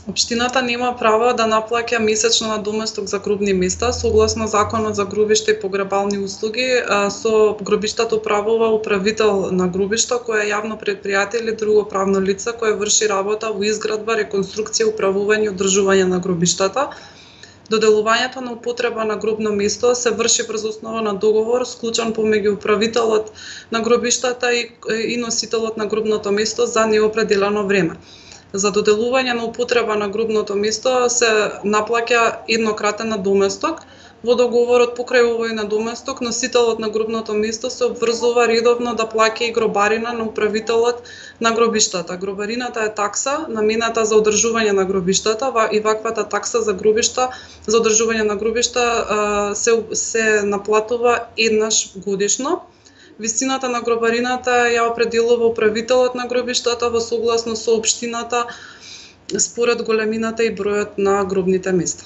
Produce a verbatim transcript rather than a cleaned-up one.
Општината нема право да наплаќа месечно надоместок за гробни места. Согласно Законот за гробиште и погребални услуги, со гробиштата управува управител на гробишта, кој е јавно претпријатие или друго правно лице кое врши работа во изградба, реконструкција, управување и одржување на гробиштата. Доделувањето на употреба на гробно место се врши врз основа на договор склучен помеѓу управителот на гробиштата и, и носителот на гробното место за неопределено време. За доделување на употреба на гробното место се наплаќа еднократен надоместок. Во договорот покрај овој надоместок, носителот на гробното место се обврзува редовно да плаќа и гробарина на управителот на гробиштата. Гробарината е такса намената за одржување на гробиштата и ваквата такса за гробишта, за одржување на гробишта се, се наплатува еднаш годишно. Висината на гробарината ја определува управителот на гробиштата во согласно со општината според големината и бројот на гробните места.